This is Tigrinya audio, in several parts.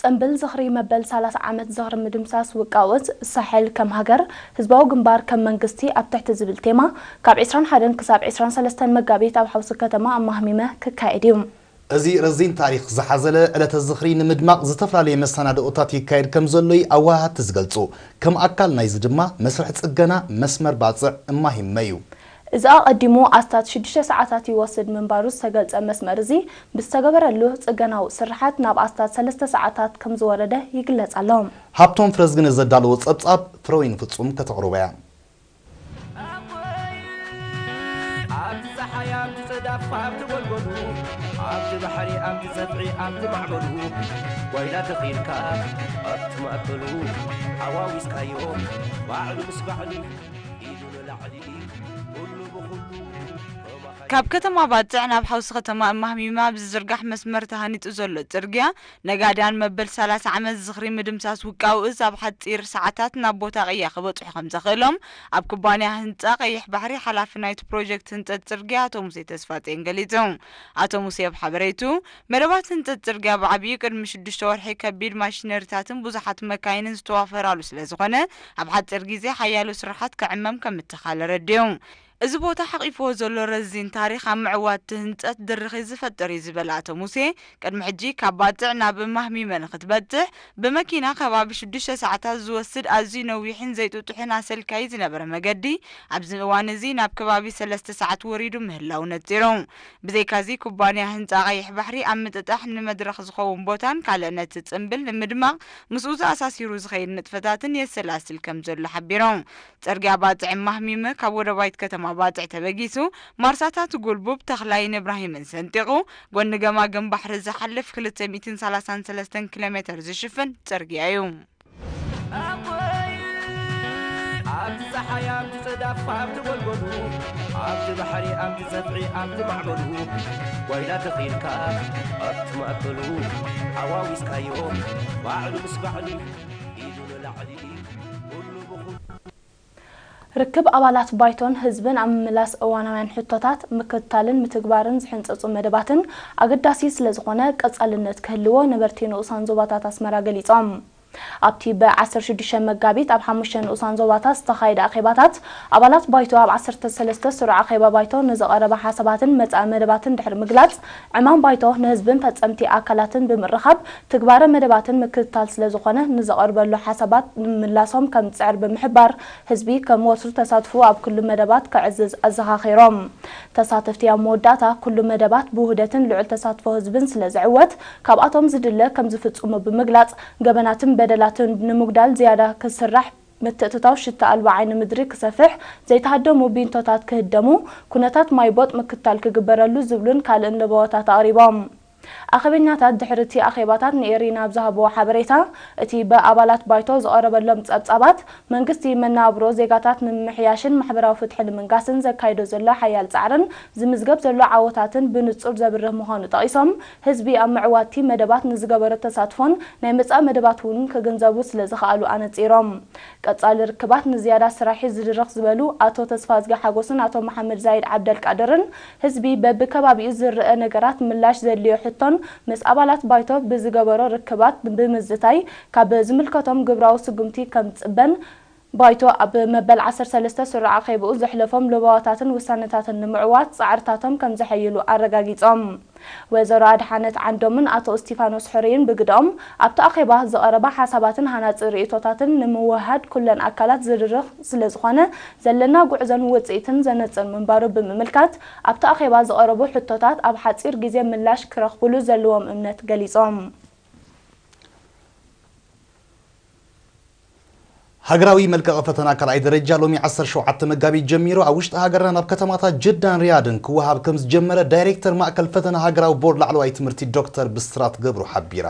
ጽምብል ዝኽሪ መበል ሰላሳ ዓመት ዝኽሪ ምድምሳስ ውቃውት ሳሕል ከም ሃገር፣ ህዝባዊ ግንባር ከም መንግስቲ ኣብ ትሕቲ ዝብል ቴማ፣ ካብ ዕስራን ሓደን ክሳብ ዕስራን ሰለስተን መጋቢት ኣብ ሓውሲ ከተማ ኣማህሚመ ክካየድ እዩ። እዚ ረዚን ታሪኽ ዝሓዘለ ዕለተ ዝኽሪ ንምድማቕ ዝተፈላለየ መሰናድኦታት ይካየድ ከም ዘሎ እዩ ኣወሃሃድቲ ዝገልጹ። ከም ኣካል ናይዚ ድማ መስርሕ ጽገና መስመር ባጽዕ እማሂመ እዩ። እዚ ኣቐዲሙ ኣስታት ሽዱሽተ ሰዓታት ይወስድ ምንባሩ ዝተገልጸ መስመር እዚ ብዝተገበረሉ ጽገናዊ ስርሓት ናብ ኣስታት ሰለስተ ሰዓታት ከም ዝወረደ ይግለጽ ኣሎ። ሃብቶም ፍረዝግነ ዘዳለዎ ጸብጻብ ፍረወይኒ ፍጹም ከተቕርቦ እያ። ኣብቲ ጸሓይ ኣብቲ ጽዳፍ ኣብቲ ጎልጎሉ ኣብቲ ባሕሪ ኣብቲ ጸፍዒ ኣብቲ ማዕበሉ ጓይላ ተኺልካ ኣብቲ ማእከሉ ሓዋዊስካዮ ባዕሉ ምስ ባዕሉ ኢዱ ንላዕሊ ኩሉ ብኹሉ ካብ ከተማ ባጽዕ ናብ ሓውሲ ከተማ እማህሚማ ብዝዝርጋሕ መስመር ተሃኒጹ ዘሎ ጽርግያ ነጋድያን መበል ሰላሳ ዓመት ዝኽሪ ምድምሳስ ውቃውእዝ ኣብ ሓጺር ሰዓታት ናብ ቦታ ቅያ ክበጽሑ ከም ዘኽእሎም ኣብ ኩባንያ ህንጻ ቀይሕ ባሕሪ ሓላፊ ናይቲ ፕሮጀክት ህንጸት ጽርግያ ኣቶ ሙሴ ተስፋጽዮን ገሊጹ። ኣቶ ሙሴ ኣብ ሓበሬቱ መደባት ህንጸት ጽርግያ ብዓብዩ ቅድሚ ሽዱሽተ ወርሒ ከቢድ ማሽነሪታትን ብዙሓት መካይንን ዝተዋፈራሉ ስለ ዝኾነ ኣብ ሓጺር ግዜ ሓያሎ ስራሓት ክዕመም ከም እተኻለ ረዲኡ። እዚ ቦታ ሓቒፍዎ ዘሎ ረዚን ታሪኽ ኣብ ምዕዋት እቲ ህንጸት ድርኺት ዝፈጥር እዩ ዝበለ ኣቶ ሙሴ፣ ቅድሚ ሕጂ ካብ ባጽዕ ናብ እማህሚመ ንኽትበጽሕ ብመኪና ከባቢ ሽዱሽተ ሰዓታት ዝወስድ ኣዝዩ ነዊሕን ዘይጥጡሕን ኣሰልካዪ ዝነበረ መገዲ ኣብዚ እዋን እዚ ናብ ከባቢ ሰለስተ ሰዓት ወሪዱ ምህላው ነጺሩ። ብዘይካዚ ኩባንያ ህንጻ ቀይሕ ባሕሪ ኣብ ምጥጣሕ ንመድረኽ ዝኸውን ቦታን ካልእ ነቲ ጽምብል ንምድማቕ ምስኡ ተኣሳሲሩ ዝኸይድ ንጥፈታትን የሰላስል ከም ዘሎ ሓቢሩ። ጽርግያ ባጽዕ ማህሚመ ካብ ወደባይት ከተማ ባጽዕ ተበጊሱ ማርሳታት ጉልቡብ፣ ተኽላይን እብራሂምን ሰንጢቑ ጎኒ ገማግም ባሕሪ ዝሓልፍ ክልተ ሚእትን ሰላሳን ሰለስተን ኪሎ ሜተር ዝሽፍን ጽርግያ እዩ። ኣብቲ ጸሓይ ኣብቲ ጽዳፍ ኣብቲ ጎልጎሉ ኣብቲ ባሕሪ ኣብቲ ጸፍዒ ኣብቲ ማዕበሉ ጓይላ ተኺልካ ኣብቲ ማእከሉ ሓዋዊስካዮ ባዕሉ ምስ ባዕሉ ኢዱ ንላዕሊ ኩሉ ብኹሉ ርክብ ኣባላት ባይቶን ህዝብን ኣብ ምምላስ እዋናውያን ሕቶታት ምክትታልን ምትግባርን ዝሕንጸጹ መደባትን ኣገዳሲ ስለዝኾነ ቀጻልነት ክህልዎ ነበርቲ ንኡሳን ዞባታት ኣስመራ ገሊጾም። ኣብቲ ብ ዓሰርተ ሽዱሽተ መጋቢት ኣብ ሓሙሽተ ንኡሳን ዞባታት ዝተኻየደ ኣኼባታት ኣባላት ባይቶ ኣብ ዓሰርተ ሰለስተ ስሩዕ ኣኼባ ባይቶ ንዝቐረበ ሓሳባትን መጻኢ መደባትን ድሕሪ ምግላጽ ዕማም ባይቶ ንህዝብን ፈጸምቲ ኣካላትን ብምርኻብ ትግባረ መደባትን ምክትታል ስለዝኾነ ንዝቐርበሉ ሓሳባት ንምላሶም ከም ዝጽዕር ብምሕባር ህዝቢ ከም ወትሩ ተሳትፎኡ ኣብ ኩሉ መደባት ከዕዝዝ ኣዘኻኺሮም። ተሳተፍቲ ኣብ መወዳእታ ኩሉ መደባት ብውህደትን ልዑል ተሳትፎ ህዝብን ስለዝዕወት ካብኣቶም ዝድለ ከም ዝፍጽሙ ብምግላጽ ገበናትን በደላትን ንምጉዳል ዝያዳ ክስራሕ ምትእትታው ሽታ ኣልባ ዓይኒ ምድሪ ክሰፍሕ ዘይተሃደሙ ቢንቶታት ክህደሙ ኩነታት ማይ ቦጥ ምክትታል ክግበረሉ ዝብሉን ካልእን ለበዋታት ኣቕሪቦም። ኣኼበኛታት ድሕሪ እቲ ኣኼባታት ንኤሪና ኣብ ዝሃብዎ ሓበሬታ እቲ ብኣባላት ባይቶ ዝቐረበሎም ጸብጻባት መንግስቲ መነባብሮ ዜጋታት ንምምሕያሽን ማሕበራዊ ፍትሒ ንምንጋስን ዘካይዶ ዘሎ ሓያል ጻዕርን ዝምዝገብ ዘሎ ዓወታትን ብንጹር ዘብርህ ምዃኑ ጠቒሶም ህዝቢ ኣብ ምዕዋትቲ መደባት ንዝገበሮ ተሳትፎን ናይ መጻኢ መደባት እውን ክግንዘቡ ስለዝኸኣሉ ኣነጺሮም። ቀጻሊ ርክባት ንዝያዳ ስራሒ ዝድርኽ ዝበሉ ኣቶ ተስፋዝጊ ሓጎስን ኣቶ መሓመድ ዛይድ ዓብደልቃድርን ህዝቢ በብከባቢኡ ዝረኣ ነገራት ምላሽ ዘድልዮ ሕቶን ምስ ኣባላት ባይቶ ብዝገበሮ ርክባት ብምዝታይ ካብ ዝምልከቶም ግብራዊ ስጉምቲ ከምዝጽበን ባይቶ ኣብ መበል ዓሰርተ ሰለስተ ስሩዕ ኣኼብኡ ዘሕለፎም ለበዋታትን ውሳነታትን ንምዕዋት ጻዕርታቶም ከምዘሐይሉ ኣረጋጊጾም። ወይዘሮ ኣድሓነት ዓንዶምን ኣቶ እስቲፋኖስ ሕሩይን ብግደኦም ኣብቲ ኣኼባ ዝቐረባ ሓሳባትን ሃናጺ ርእይቶታትን ንምውህሃድ ኩለን ኣካላት ዝድርኽ ስለዝኾነ ዘለና ጉዕዞን ውጽኢትን ዘነጽር ምንባሩ ብምምልካት ኣብቲ ኣኼባ ዝቐረቡ ሕቶታት ኣብ ሓጺር ግዜ ምላሽ ክረኽብሉ ዘለዎም እምነት ገሊጾም። ሃገራዊ መልቀቒ ፈተና ካልኣይ ደረጃ ሎሚ ዓሰርተ ሸውዓተ መጋቢት ጀሚሩ ኣብ ውሽጢ ሃገርና ናብ ከተማታት ጅዳን ሪያድን ክወሃብ ከም ዝጀመረ ዳይሬክተር ማእከል ፈተና ሃገራዊ ቦርድ ላዕለዋይ ትምህርቲ ዶክተር ብስራት ገብሩ ሓቢራ።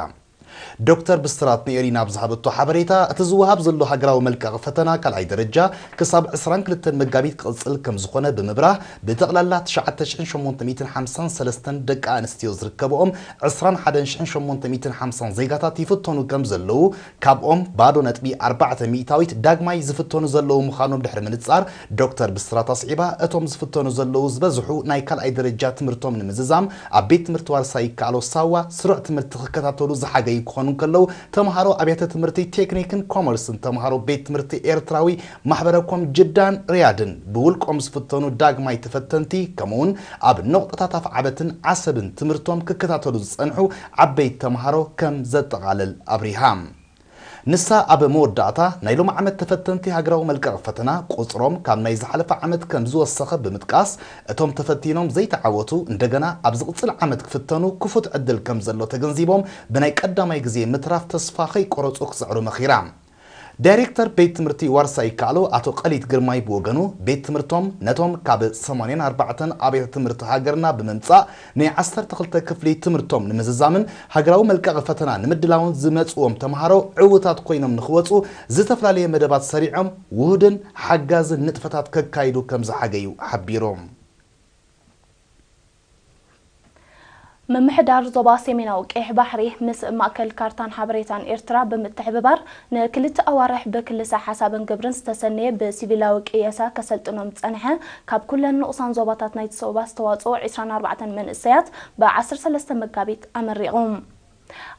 ዶክተር ብስራት ንኤሪና ኣብ ዝሃበቶ ሓበሬታ እቲ ዝወሃብ ዘሎ ሃገራዊ መልቀቒ ፈተና ካልኣይ ደረጃ ክሳብ ዕስራን ክልተን መጋቢት ክቕጽል ከም ዝኾነ ብምብራህ ብጠቕላላ ትሽዓተ ሽሕን ሸሞንተ ሚእትን ሓምሳን ሰለስተን ደቂ ኣንስትዮ ዝርከብኦም ዕስራን ሓደን ሽሕን ሸሞንተ ሚእትን ሓምሳን ዜጋታት ይፍተኑ ከም ዘለዉ ካብኦም ባዶ ነጥቢ ኣርባዕተ ሚእታዊት ዳግማይ ዝፍተኑ ዘለዉ ምዃኖም ድሕሪ ምንጻር ዶክተር ብስራት ኣስዒባ እቶም ዝፍተኑ ዘለዉ ዝበዝሑ ናይ ካልኣይ ደረጃ ትምህርቶም ንምዝዛም ኣብ ቤት ትምህርቲ ዋርሳይ ይከኣሎ ሳዋ ስሩዕ ትምህርቲ ክከታተሉ ዝሓገዩ ክኾኑ እንከለዉ፣ ተምሃሮ ኣብያተ ትምህርቲ ቴክኒክን ኮመርስን፣ ተምሃሮ ቤት ትምህርቲ ኤርትራዊ ማሕበረ ኮም ጅዳን ሪያድን፣ ብውልቆም ዝፍተኑ ዳግማይ ተፈተንቲ፣ ከምኡውን ኣብ ነቑጣታት ኣፍዓበትን ዓሰብን ትምህርቶም ክከታተሉ ዝጸንሑ ዓበይቲ ተምሃሮ ከም ዘጠቓልል ኣብሪሃ። ንሳ ኣብ መወዳእታ፣ ናይ ሎም ዓመት ተፈተንቲ ሃገራዊ መልቀቕ ፈተና ቁጽሮም ካብ ናይ ዝሓለፈ ዓመት ከም ዝወሰኸ ብምጥቃስ፣ እቶም ተፈቲኖም ዘይተዓወቱ እንደገና ኣብ ዝቕጽል ዓመት ክፍተኑ ክፉት ዕድል ከም ዘሎ ተገንዚቦም፣ ብናይ ቀዳማይ ግዜ ምትራፍ ተስፋ ከይቆረጹ ክጽዕሩ መኺራ። ዳይሬክተር ቤት ትምህርቲ ዋርሳይ ይከኣሎ ኣቶ ቀሊት ግርማይ ብወገኑ፣ ቤት ትምህርቶም ነቶም ካብ ሰማንያን ኣርባዕተን ኣብያተ ትምህርቲ ሃገርና ብምምጻእ፣ ናይ ዓሰርተ ክልተ ክፍሊ ትምህርቶም ንምዝዛምን ሃገራዊ መልቀቒ ፈተና ንምድላውን ዝመጽዎም ተምሃሮ ዕዉታት ኮይኖም ንኽወጹ ዝተፈላለየ መደባት ሰሪዖም ውሁድን ሓጋዝን ንጥፈታት ከካይዱ ከም ዝሓገዩ ሓቢሮም። ምምሕዳር ዞባ ሰሜናዊ ቀይሕ ባሕሪ ምስ ማእከል ካርታን ሓበሬታን ኤርትራ ብምትሕብባር ንክልተ ኣዋርሕ ብክልሰ ሓሳብን ግብርን ዝተሰነየ ብሲቪላዊ ቅየሳ ከሰልጥኖም ዝጸንሐ ካብ ኩለን ንኡሳን ዞባታት ናይቲ ዞባ ዝተዋጽኡ ዕስራን ኣርባዕተን መንእሰያት ብ ዓሰርተ ሰለስተ መጋቢት ኣመሪቑ።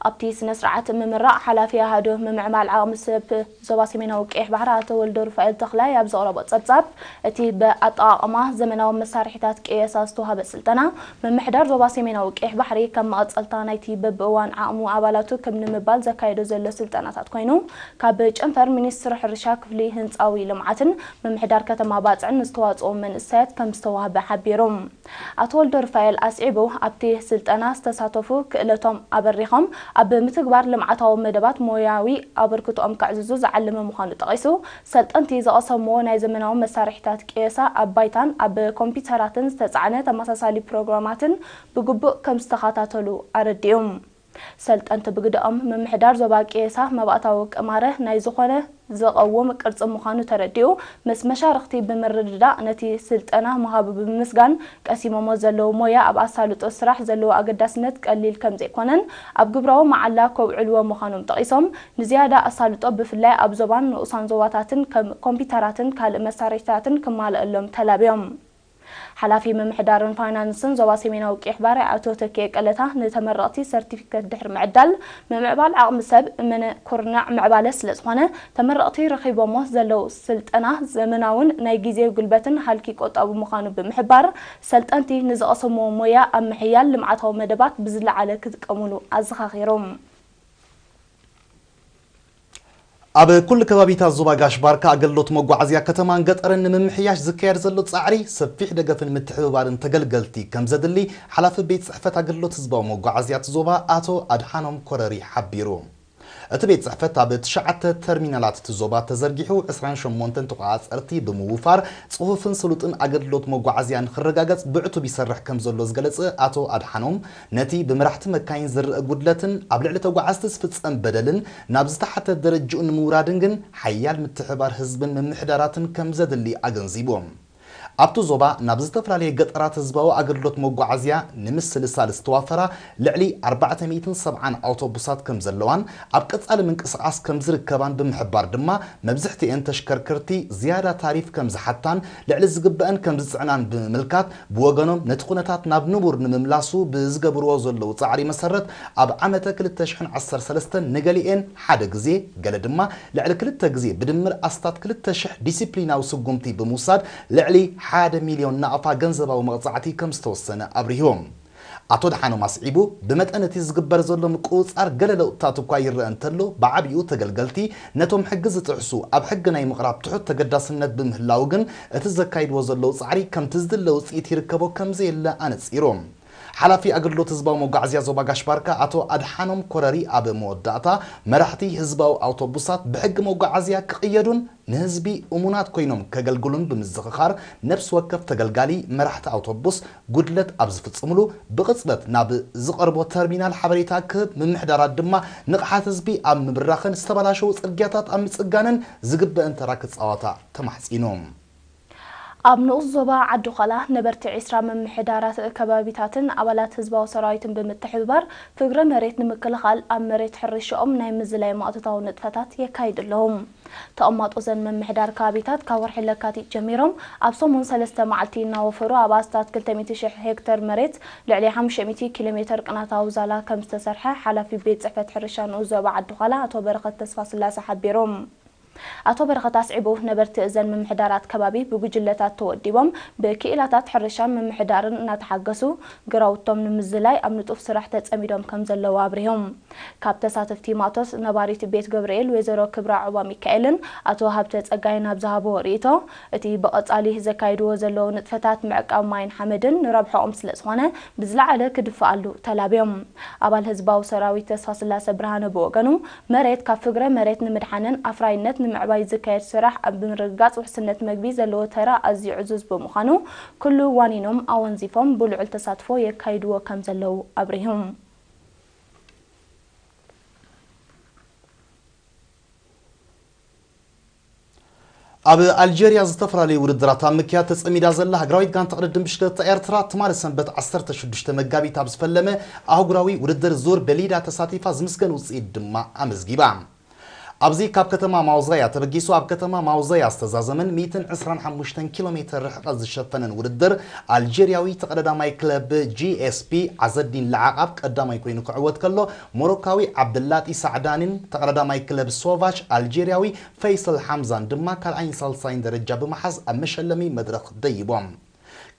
ኣብቲ ስነ ስርዓት ምምራቕ ሓላፊ ኣሃዱ ምምዕባል ዓቕሚ ሰብ ዞባ ሰሜናዊ ቀይሕ ባሕሪ ኣቶ ወልደ ሩፋኤል ተኽላይ ኣብ ዘቕረቦ ጸብጻብ፣ እቲ ብኣጠቓቕማ ዘመናዊ መሳርሒታት ቅየሳ ዝተዋህበ ስልጠና፣ ምምሕዳር ዞባ ሰሜናዊ ቀይሕ ባሕሪ ከም መቐጸልታ ናይቲ በብእዋን ዓቕሙ ኣባላቱ ክብ ንምባል ዘካየዶ ዘሎ ስልጠናታት ኮይኑ፣ ካብ ጨንፈር ሚኒስትሪ ሕርሻ ክፍሊ ህንጻዊ ልምዓትን ምምሕዳር ከተማ ባጽዕን ንዝተዋጽኡ መንእሰያት ከም ዝተዋህበ ሓቢሩ። ኣቶ ወልደሩፋኤል ኣስዒቡ፣ ኣብቲ ስልጠና ዝተሳተፉ ክእለቶም ኣበሪኾም ኣብ ምትግባር ልምዓታዊ መደባት ሞያዊ ኣበርክቶኦም ከዕዝዙ ዝዓለመ ምዃኑ ጠቒሱ፣ ሰልጠንቲ ዝቐሰምዎ ናይ ዘመናዊ መሳርሒታት ቅየሳ ኣብ ባይታን ኣብ ኮምፒተራትን ዝተጻዕነ ተመሳሳሊ ፕሮግራማትን ብግቡእ ከም ዝተኸታተሉ ኣረዲኡ። ሰልጠንቲ ብግደኦም፣ ምምሕዳር ዞባ ቅየሳ መባእታዊ ቅማረ ናይ ዝኾነ ዝቐውም ቅርጺ ምዃኑ ተረዲኡ፣ ምስ መሻርኽቲ ብምርድዳእ ነቲ ስልጠና ምሃቡ ብምምስጋን፣ ቀሲሞሞ ዘለዉ ሞያ ኣብ ኣሳልጦ ስራሕ ዘለዎ ኣገዳስነት ቀሊል ከም ዘይኮነን ኣብ ግብራዊ መዓላ ከውዕልዎ ምዃኖም ጠቒሶም፣ ንዝያዳ ኣሳልጦ ብፍላይ ኣብ ዞባን ንኡሳን ዞባታትን ከም ኮምፒተራትን ካልእ መሳርሒታትን ክማልኣሎም ተላብዮም። ሓላፊ ምምሕዳርን ፋይናንስን ዞባ ሰሜናዊ ቀይሕ ባሕሪ ኣቶ ተኪኤ ቀለታ ንተመረቕቲ ሰርቲፊከት ድሕሪ ምዕዳል፣ ምምዕባል ዓቕሚ ሰብ እመነ ኩርናዕ ምዕባለ ስለዝኾነ፣ ተመረቕቲ ረኺቦሞ ዘለዉ ስልጠና ዘመናውን ናይ ግዜ ጉልበትን ሃልኪ ቆጣቢ ምዃኑ ብምሕባር፣ ሰልጠንቲ ንዝቐሰምዎ ሞያ ኣብ ምሕያል ልምዓታዊ መደባት ብዝለዓለ ክጥቀሙሉ ኣዘኻኺሮም። ኣብ ኩሉ ከባቢታት ዞባ ጋሽ ባርካ ኣገልግሎት መጓዓዝያ ከተማን ገጠርን ንምምሕያሽ ዝካየድ ዘሎ ጻዕሪ ሰፊሕ ደገፍን ምትሕብባርን ተገልገልቲ ከም ዘድሊ ሓላፊ ቤት ጽሕፈት ኣገልግሎት ህዝባዊ መጓዓዝያ እቲ ዞባ ኣቶ ኣድሓኖም ኮረሪ ሓቢሩ። እቲ ቤት ጽሕፈት ኣብ ትሽዓተ ተርሚናላት እቲ ዞባ ተዘርጊሑ ዕስራን ሸሞንተን ተቆጻጸርቲ ብምውፋር ጽፉፍን ስሉጥን ኣገልግሎት መጓዓዝያ ንኽረጋገጽ ብዕቱብ ይሰርሕ ከም ዘሎ ዝገለጸ ኣቶ ኣድሓኖም፣ ነቲ ብመራሕቲ መካይን ዝረኣ ጉድለትን ኣብ ልዕሊ ተጓዓዝቲ ዝፍጸም በደልን ናብ ዝተሓተ ደረጅኡ ንምውራድን ግን ሓያል ምትሕብባር ህዝብን ምምሕዳራትን ከም ዘድሊ ኣገንዚቡ። ኣብቲ ዞባ ናብ ዝተፈላለየ ገጠራት ህዝባዊ ኣገልግሎት መጓዓዝያ ንምስልሳል ዝተዋፈራ ልዕሊ ኣርባዕተ ሚእትን ሰብዓን ኣውቶቡሳት ከም ዘለዋን ኣብ ቀጻሊ ምንቅስቓስ ከም ዝርከባን ብምሕባር ድማ፣ መብዝሕትኤን ተሽከርከርቲ ዝያዳ ታሪፍ ከም ዝሓታን ልዕሊ ዝግበአን ከም ዝጽዕናን ብምምልካት፣ ብወገኖም ነቲ ኩነታት ናብ ንቡር ንምምላሱ ብዝገብርዎ ዘለዉ ጻዕሪ መሰረት፣ ኣብ ዓመተ ክልተ ሽሕን ዓሰርተ ሰለስተን ንገሊኤን ሓደ ግዜ፣ ገለ ድማ ልዕሊ ክልተ ግዜ ብድምር ኣስታት ክልተ ሽሕ ዲሲፕሊናዊ ስጉምቲ ብምውሳድ ልዕሊ ሓደ ሚልዮን ናቕፋ ገንዘባዊ መቕጻዕቲ ከም ዝተወሰነ ኣብሪሁ። ኣቶ ኣድሓኖም ኣስዒቡ፣ ብመጠን እቲ ዝግበር ዘሎ ምቁጽጻር ገለ ለውጥታት እኳ ይረአ እንተሎ፣ ብዓቢኡ ተገልገልቲ ነቶም ሕጊ ዝጥሕሱ ኣብ ሕጊ ናይ ምቕራብ ትሑት ተገዳስነት ብምህላዉ ግን፣ እቲ ዘካይድዎ ዘለዉ ጻዕሪ ከምቲ ዝድለ ውጽኢት ይርከቦ ከም ዘየለ ኣነጺሩ። ሓላፊ ኣገልግሎት ህዝባዊ መጓዓዝያ ዞባ ጋሽ ባርካ ኣቶ ኣድሓኖም ኮረሪ ኣብ መወዳእታ፣ መራሕቲ ህዝባዊ ኣውቶቡሳት ብሕጊ መጓዓዝያ ክቕየዱን ንህዝቢ እሙናት ኮይኖም ከገልግሉን ብምዝኽኻር፣ ነፍሲ ወከፍ ተገልጋሊ መራሕቲ ኣውቶቡስ ጉድለት ኣብ ዝፍጽምሉ ብቕጽበት ናብ ዝቐርቦ ተርሚናል ሓበሬታ ክህብ፣ ምምሕዳራት ድማ ንቕሓት ህዝቢ ኣብ ምብራኽን ዝተበላሸዉ ጽርግያታት ኣብ ምጽጋንን ዝግበአን ተራ ክጻወታ ተማሕጺኑ። ኣብ ንኡስ ዞባ ዓዲ ዃላ ነበርቲ ዒስራ ምምሕዳራት ከባቢታትን ኣባላት ህዝባዊ ሰራዊትን ብምትሕብባር ፍግረ መሬት ንምክልኻል ኣብ መሬት ሕርሻኦም ናይ ምዝላይ ማእቶታዊ ንጥፈታት የካይዱ ኣለዉ። ተቐማጦ ዘን ምምሕዳር ከባቢታት ካብ ወርሒ ለካቲት ጀሚሮም ኣብ ሰሙን ሰለስተ መዓልቲ እናወፈሩ ኣብ ኣስታት ክልተ ሚእቲ ሺሕ ሄክተር መሬት ልዕሊ ሓሙሽተ ሚእቲ ኪሎ ሜተር ቅናታዊ ዛላ ከም ዝተሰርሐ ሓላፊ ቤት ጽሕፈት ሕርሻ ንኡስ ዞባ ዓዲ ዃላ ኣቶ በረኸት ተስፋስላሴ ሓቢሮም። ኣቶ በረኸት ኣስዒቡ፣ ነበርቲ እዘን ምምሕዳራት ከባቢ ብጉጅለታት ተወዲቦም ብክኢላታት ሕርሻን ምምሕዳርን እናተሓገሱ ግራውቶም ንምዝላይ ኣብ ንጡፍ ስራሕ ተጸሚዶም ከም ዘለዉ ኣብሪሆም። ካብ ተሳተፍቲ ማእቶት ነባሪት ቤት ገብርኤል ወይዘሮ ክብራ ዑባ ሚካኤልን ኣቶ ሃብተ ጸጋይን ኣብ ዝሃብዎ ርእይቶ፣ እቲ ብቐጻሊ ዘካይድዎ ዘለዉ ንጥፈታት ምዕቃብ ማይን ሓመድን ንረብሓኦም ስለ ዝኾነ ብዝለዓለ ክድፈኣሉ ተላብዮም። ኣባል ህዝባዊ ሰራዊት ተስፋስላሰ ብርሃነ ብወገኑ፣ መሬት ካብ ፍግረ መሬት ንምድሓንን ኣፍራይነት ንምዕባይ ዝካየድ ስራሕ ኣብ ምርግጋጽ ውሕስነት መግቢ ዘለዎ ተራ ኣዝዩ ዕዙዝ ብምዃኑ፣ ኩሉ ዋኒኖም ኣወንዚፎም ብልዑል ተሳትፎ የካይድዎ ከም ዘለዉ ኣብሪሁ። ኣብ ኣልጀርያ ዝተፈላለዩ ውድድራት ኣብ ምክያድ ተጸሚዳ ዘላ ሃገራዊት ጋንታ ቅድድም ብሽክለታ ኤርትራ፣ ትማሊ ሰንበት ዓሰርተ ሽዱሽተ መጋቢት ኣብ ዝፈለመ ኣህጉራዊ ውድድር ዙር በሊዳ ተሳቲፋ ዝምስገን ውጽኢት ድማ ኣመዝጊባ። ኣብዚ ካብ ከተማ ማውዛያ ተበጊሱ ኣብ ከተማ ማውዛያ ዝተዛዘመን ሚእትን ዕስራን ሓሙሽተን ኪሎ ሜተር ርሕቐት ዝሸፈነን ውድድር፣ ኣልጀርያዊ ተቐዳዳማይ ክለብ ጂ ኤስ ፒ ዓዘዲን ለዓቓብ ቀዳማይ ኮይኑ ክዕወት ከሎ፣ ሞሮካዊ ዓብደላጢ ሳዕዳኒን ተቐዳዳማይ ክለብ ሶቫች ኣልጀርያዊ ፈይሰል ሓምዛን ድማ ካልኣይን ሳልሳይን ደረጃ ብምሓዝ ኣብ መሸለሚ መድረኽ ደይቦም።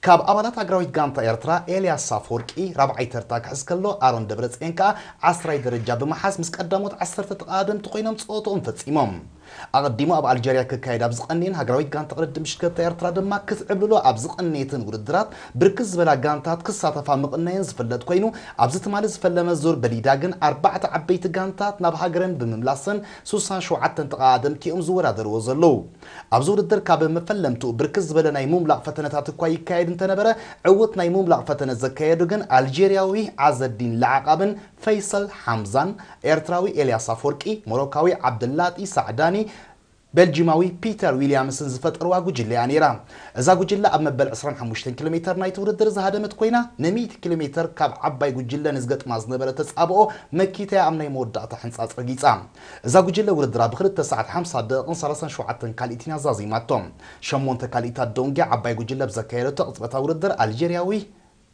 ካብ ኣባላት ሃገራዊት ጋንታ ኤርትራ፣ ኤልያስ ኣፈወርቂ ራብዓይ ተርታ ክሕዝ ከሎ፣ ኣሮን ደብረጽዮን ከኣ ዓስራይ ደረጃ ብምሓዝ ምስ ቀዳሞት ዓሰርተ ተቐዳደምቲ ኮይኖም ጸወትኦም ፈጺሞም። ኣቐዲሙ ኣብ ኣልጀርያ ክካየድ ኣብ ዝቐንየን ሃገራዊት ጋንታ ቅድድም ብሽክለታ ኤርትራ ድማ ክትዕብልሎ ኣብ ዝቐነየትን ውድድራት ብርክት ዝበላ ጋንታት ክሳተፋ ምቕናየን ዝፍለጥ ኮይኑ፣ ኣብዚ ትማሊ ዝፈለመ ዙር በሊዳ ግን ኣርባዕተ ዓበይቲ ጋንታት ናብ ሃገረን ብምምላሰን ሱሳን ሸውዓተን ተቐዳደምቲ እዮም ዝወዳደርዎ ዘለዉ። ኣብዚ ውድድር ካብ መፈለምትኡ ብርክት ዝበለ ናይ ምምላቕ ፈተነታት እኳ ይካየድ እንተነበረ፣ ዕዉት ናይ ምምላቕ ፈተነ ዘካየዱ ግን ኣልጀርያዊ ዓዘዲን ለዓቓብን ፈይሰል ሓምዛን ኤርትራዊ ኤልያስ ኣፈወርቂ፣ ሞሮካዊ ዓብደላጢ ሳዕዳኒ፣ ቤልጂማዊ ፒተር ዊልያምስን ዝፈጠርዋ ጉጅለ እያ ነይራ። እዛ ጉጅለ ኣብ መበል ዕስራን ሓሙሽተን ኪሎ ሜተር ናይቲ ውድድር ዝሃደመት ኮይና፣ ንሚእቲ ኪሎ ሜተር ካብ ዓባይ ጉጅለ ንዝገጥማ ዝነበረ ተጻብኦ መኪታያ ኣብ ናይ መወዳእታ ሕንጻጽ ረጊጻ። እዛ ጉጅለ ውድድራ ብክልተ ሰዓት ሓምሳ ደቂቕን ሰላሳን ሸውዓተን ካልኢትን ኣዛዚማቶ። ሸሞንተ ካልኢታት ደንጉያ ዓባይ ጉጅለ ብዘካየደቶ ቅጽበታዊ ውድድር ኣልጀርያዊ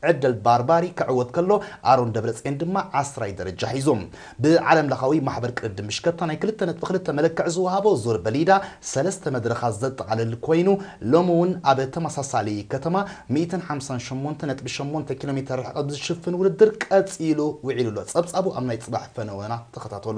ዕደል ባርባሪ ክዕወት ከሎ፣ ኣሮን ደብረጽዮን ድማ ዓስራይ ደረጃ ሒዙ። ብዓለም ለኻዊ ማሕበር ቅድድም ብሽክለታ ናይ ክልተ ነጥቢ ክልተ መለክዒ ዝወሃቦ ዙር በሊዳ ሰለስተ መድረኻት ዘጠቓልል ኮይኑ፣ ሎሚ እውን ኣብ ተመሳሳሊ ከተማ ሚእትን ሓምሳን ሸሞንተ ነጥቢ ሸሞንተ ኪሎ ሜተር ርሕቐት ዝሽፍን ውድድር ቀጺሉ ውዒሉ ኣሎ። ጸብጻቡ ኣብ ናይ ጽባሕ ፈነወና ተኸታተሉ።